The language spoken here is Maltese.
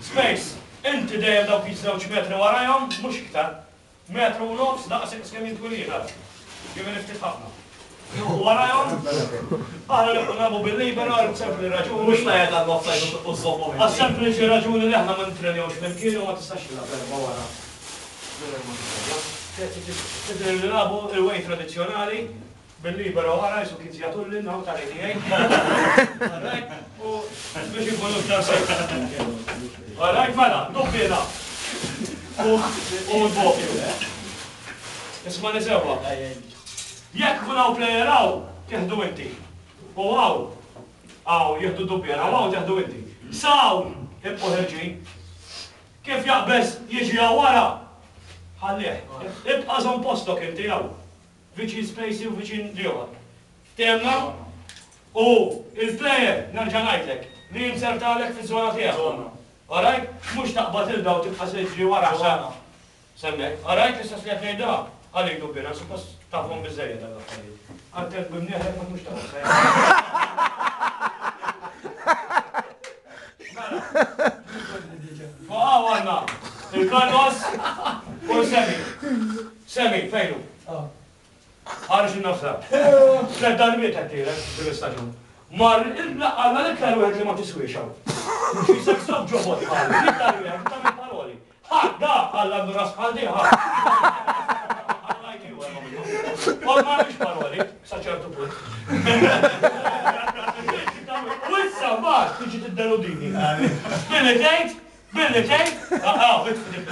Space, inti dejjem dawk iż-żewġ metri warajhom, mhux iktar. Metru u nofs daqs kemm jien twil jien, ara. Jiġifieri ftit ħafna. U warajhom, aħna nibqgħu nilagħbu bil-libero għal sempliċi raġuni. Mhux tajjeb għall-offside u żżommhom inti. Għas-sempliċi raġuni li aħna ma nittrenjawx flimkien u ma tistax tilgħab erbgħa wara mingħajr ma tittrenja. Trid nilagħbu il-way tradizzjonali Bil-libero wara jisu kien Ziatullin hawn tal-ATA. Alright, u biex inkunu iktar safe. Alright, mela, dubbiena. U u l-bokju. Isma' sewwa. Jekk kun hawn player hawn, tieħdu inti. U hawn, hawn jieħdu dubbiena, u hawn tieħdu inti. S'hawn ibqgħu ħerġin. Kif jaqbeż jiġi hawn wara, ħallih. Ibqa' żomm postok inti hawn. Viċin Spacey u viċin l-ieħor. Ftehemna? U il-player, nerġa' ngħidlek, li jinzertalek fiż-żona tiegħek. Żona. Alright? Mhux taqbad 'il daw tibqa' tiġri wara sa Żona. s'hemmhekk. Alright? L-istess li qed ngħidha għalik Dubbiena, suppost tafhom biżżejjed dawn l-affarijiet. Attent b'imnieħrek ma tmurx ta' offside. Mela. Fuq hawn għandna il-Carlos u l-Sammy. Sammy, fejn hu? Ħareġ in-nofsha. Tlett darbiet qed tielek din l-istaġun. Mar għandna l-iktar wieħed li ma tiswiex hawn. Xi stop ġobot bħal, l-iktar wieħed tagħmel paroli. Ħa, da, Alla għandu ras bħal di, ħa. Għall-IQ hemm minnu. U ma għandux paroli, sa ċertu punt. U issa mbagħad tiġi tiddeludini. Billi tgħid, billi tgħid, ah, ah, itfi dik.